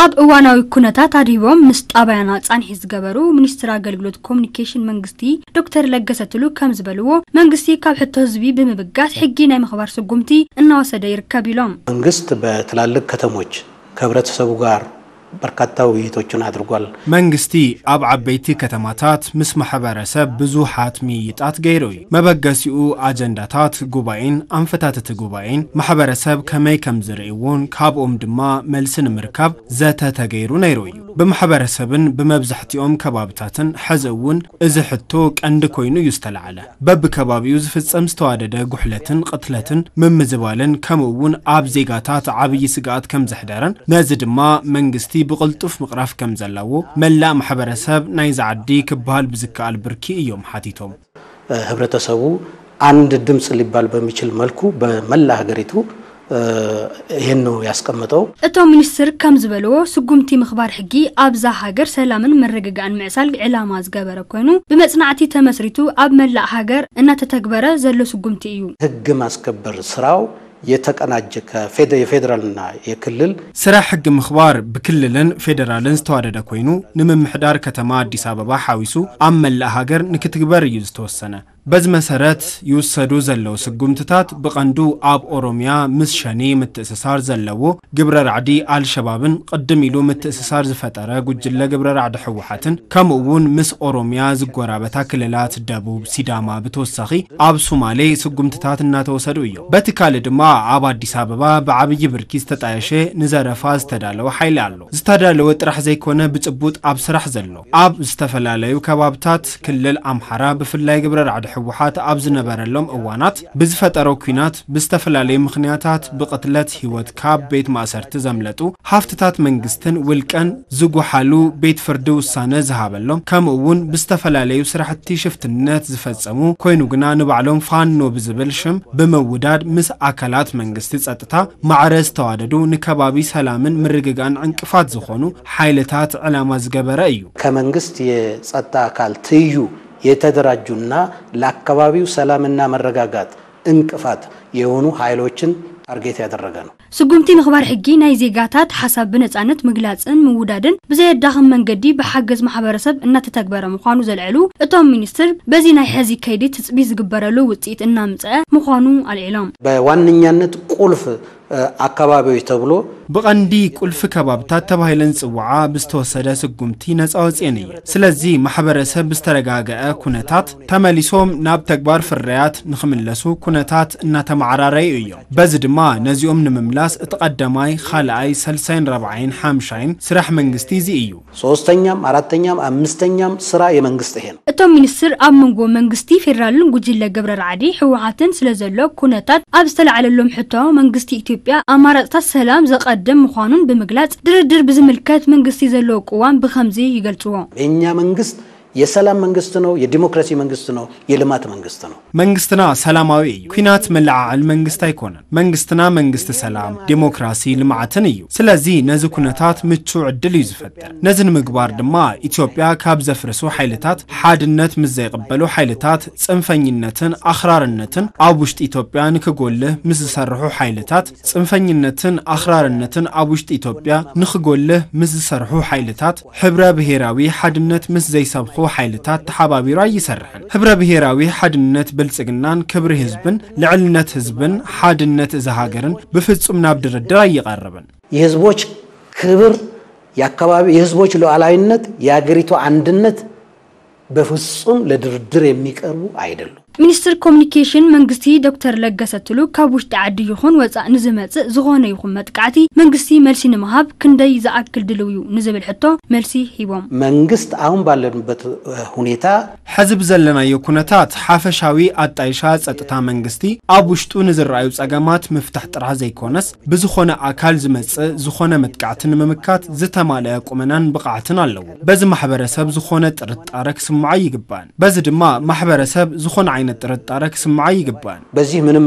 ኣብ እዋናዊ ኩነታት ኣድሂቦም ምስ ጣብያና ጻንሒት ዝገበሩ ሚኒስትር ኣገልግሎት ኮሙኒኬሽን መንግስቲ ዶክተር ለገሰ ቱሉ ከም ዝበልዎ፣ መንግስቲ ካብ ሕቶ ህዝቢ ብምብጋስ ሕጊ ናይ ምኽባር ስጉምቲ እናወሰደ ይርከብ ኢሎም። መንግስት በትላልቅ ከተሞች ከህብረተሰቡ ጋር በርካታ ውይይቶችን አድርጓል። መንግስቲ ኣብ ዓበይቲ ከተማታት ምስ ማሕበረሰብ ብዙሓት ምይይጣት ገይሩ እዩ። መበገሲኡ ኣጀንዳታት ጉባኤን ኣንፈታት እቲ ጉባኤን ማሕበረሰብ ከመይ ከም ዝርእይዎን ካብኦም ድማ መልሲ ንምርካብ ዘተ ተገይሩ ነይሩ እዩ። ብማሕበረሰብን ብመብዛሕትኦም ከባብታትን ሕዚ እውን እዚ ሕቶ ቀንዲ ኮይኑ እዩ ዝተላዕለ። በብከባቢኡ ዝፍጸም ዝተዋደደ ጉሕለትን ቅትለትን ምምዝባልን ከምኡ እውን ኣብ ዜጋታት ዓብዪ ስግኣት ከም ዘሕደረን ነዚ ድማ መንግስቲ ብቕልጡፍ ምቕራፍ ከም ዘለዎ መላእ ማሕበረሰብ ናይዚ ዓዲ ክበሃል ብዝከኣል ብርኪ እዮም ሓቲቶም። ህብረተሰቡ አንድ ድምፅ ሊባል በሚችል መልኩ በመላ ሀገሪቱ ይህን ነው ያስቀመጠው። እቶም ሚኒስትር ከም ዝበልዎ፣ ስጉምቲ ምኽባር ሕጊ ኣብዛ ሃገር ሰላምን ምርግጋእን ምዕሳል ዕላማ ዝገበረ ኮይኑ፣ ብመጽናዕቲ ተመስሪቱ ኣብ መላእ ሃገር እናተተግበረ ዘሎ ስጉምቲ እዩ። ህግ ማስከበር ስራው የተቀናጀ ከፌደ-፣ የፌዴራልና የክልል ስራሕ ሕጊ ምኽባር ብክልልን ፌዴራልን ዝተዋደደ ኮይኑ፣ ንምምሕዳር ከተማ ኣዲስ ኣበባ ሓዊሱ ኣብ መላእ ሃገር ንክትግበር እዩ ዝተወሰነ። በዚ መሰረት ይውሰዱ ዘለዉ ስጉምትታት ብቐንዱ ኣብ ኦሮሚያ ምስ ሸኔ ምትእስሳር ዘለዎ ግብረ ራዕዲ ኣልሸባብን ቅድም ኢሉ ምትእስሳር ዝፈጠረ ጉጅለ ግብረ ራዕዲ ህወሓትን ከምኡ እውን ምስ ኦሮሚያ ዝጎራበታ ክልላት ደቡብ፣ ሲዳማ ብተወሳኺ ኣብ ሱማሌ ስጉምትታት እናተወሰዱ እዮም። በቲ ካልእ ድማ ኣብ ኣዲስ ኣበባ ብዓብዪ ብርኪ ዝተጣየሸ ንዘረፋ ዝተዳለወ ሓይሊ ኣሎ። ዝተዳለወ ጥራሕ ዘይኮነ ብጭቡጥ ኣብ ስራሕ ዘሎ ኣብ ዝተፈላለዩ ከባብታት ክልል ኣምሓራ ብፍላይ ግብረ ራዕዲ ህወሓት ኣብ ዝነበረሎም እዋናት ብዝፈጠሮ ኲናት ብዝተፈላለዩ ምኽንያታት ብቕትለት ህይወት ካብ ቤት ማእሰርቲ ዘምለጡ ሃፍትታት መንግስትን ውልቀን ዝጉሓሉ ቤት ፍርዲ ውሳነ ዝሃበሎም ከምኡ እውን ብዝተፈላለዩ ስራሕቲ ሽፍትነት ዝፈጸሙ ኮይኑ ግና ንባዕሎም ፋኖ ብዝብል ሽም ብምውዳድ ምስ ኣካላት መንግስቲ ጸጥታ ማዕረ ዝተዋደዱ ንከባቢ ሰላምን ምርግጋእን ዕንቅፋት ዝኾኑ ሓይልታት ዕላማ ዝገበረ እዩ። ከመንግስት የጸጥታ አካል ትይዩ የተደራጁና ለአካባቢው ሰላምና መረጋጋት እንቅፋት የሆኑ ኃይሎችን ታርጌት ያደረገ ነው። ስጉምቲ ምኽባር ሕጊ ናይ ዜጋታት ሓሳብ ብነጻነት ምግላጽን ምውዳድን ብዘየዳኽም መንገዲ ብሓገዝ ማሕበረሰብ እናተተግበረ ምዃኑ ዘልዐሉ እቶም ሚኒስትር፣ በዚ ናይ ሕዚ ከይዲ ትጽቢት ዝግበረሉ ውጽኢት እናምጽአ ምዃኑ ኣልዒሎም። በዋነኛነት ቁልፍ አካባቢዎች ተብሎ ብቐንዲ ቁልፊ ከባብታት ተባሂለን ዝጽውዓ ብዝተወሰደ ስጉምቲ ነጻ ወጽኤን እዩ። ስለዚ ማሕበረሰብ ብዝተረጋገአ ኩነታት ተመሊሶም ናብ ተግባር ፍርያት ንኽምለሱ ኩነታት እናተመዓራረዩ እዮም። በዚ ድማ ነዚኦም ንምምላስ እቲ ቀዳማይ፣ ካልኣይ፣ ሰልሳይን ራብዓይን ሓምሻይን ስራሕ መንግስቲ እዚ እዩ። ሶስተኛም አራተኛም አምስተኛም ስራ የመንግስት ይሄ ነው። እቶም ሚኒስትር ኣብ መንጎ መንግስቲ ፌዴራልን ጉጅለ ግብረ ራዕዲ ህወሓትን ስለ ዘሎ ኩነታት ኣብ ዝተላዕለሎም ሕቶ መንግስቲ ኢትዮጵያ ኣማራፅታት ሰላም ዘቐድም ምዃኑን ብምግላፅ ድርድር ብዝምልከት መንግስቲ ዘለዎ ቅዋም ብኸምዚ ይገልፅዎ። የኛ መንግስት የሰላም መንግስት ነው፣ የዲሞክራሲ መንግስት ነው፣ የልማት መንግስት ነው። መንግስትና ሰላማዊ እዩ። ኲናት መለዓዓል መንግስት ኣይኮነን። መንግስትና መንግስቲ ሰላም፣ ዲሞክራሲ፣ ልምዓትን እዩ። ስለዚ ነዚ ኩነታት ምቹእ ዕድል እዩ ዝፈጥር። ነዚ ንምግባር ድማ ኢትዮጵያ ካብ ዘፍርሱ ሓይልታት ሓድነት ምስ ዘይቕበሉ ሓይልታት ጽንፈኝነትን ኣኽራርነትን ኣብ ውሽጢ ኢትዮጵያ ንክጎልህ ምስ ዝሰርሑ ሓይልታት ጽንፈኝነትን ኣኽራርነትን ኣብ ውሽጢ ኢትዮጵያ ንክጎልህ ምስ ዝሰርሑ ሓይልታት፣ ሕብረ ብሄራዊ ሓድነት ምስ ዘይሰብኹ ሓይልታት ተሓባቢሩ ኣይሰርሕን። ሕብረ ብሄራዊ ሓድነት ብልጽግናን ክብሪ ህዝብን ልዕልነት ህዝብን ሓድነት እዛ ሃገርን ብፍጹም ናብ ድርድር ኣይቐርብን። የህዝቦች ክብር፣ የአካባቢ የህዝቦች ሉዓላዊነት፣ የአገሪቱ አንድነት በፍጹም ለድርድር የሚቀርቡ አይደሉም። ሚኒስትር ኮሙኒኬሽን መንግስቲ ዶክተር ለገሰ ቱሉ ካብ ውሽጢ ዓዲ ይኹን ወፃእ ንዝመፅእ ዝኾነ ይኹን መጥቃዕቲ መንግስቲ መልሲ ንምሃብ ክንደይ ዝኣክል ድልው እዩ ንዝብል ሕቶ መልሲ ሂቦም። መንግስት አሁን ባለንበት ሁኔታ ሕዚ ብዘለናዮ ኩነታት ሓፈሻዊ ኣጣይሻ ጸጥታ መንግስቲ ኣብ ውሽጡ ንዝረኣዩ ጸገማት ምፍታሕ ጥራሕ ዘይኮነስ ብዝኾነ ኣካል ዝመጽእ ዝኾነ መጥቃዕቲ ንምምካት ዝተማልአ ቁመናን ብቕዓትን ኣለዎ። በዚ ማሕበረሰብ ዝኾነ ጥርጣረ ክስምዖ ኣይግባእን። በዚ ድማ ማሕበረሰብ ዝኾነ ዓይነት ጥርጣረ ክስምዖ ኣይግባእን። በዚህ ምንም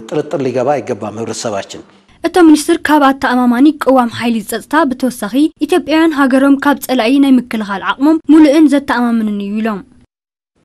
ጥርጥር ሊገባ አይገባም ህብረተሰባችን። እቶም ሚኒስትር ካብ ኣተኣማማኒ ቅዋም ሓይሊ ጸጥታ ብተወሳኺ ኢትዮጵያውያን ሃገሮም ካብ ጸላኢ ናይ ምክልኻል ዓቕሞም ሙሉእን ዘተኣማምንን እዩ ኢሎም።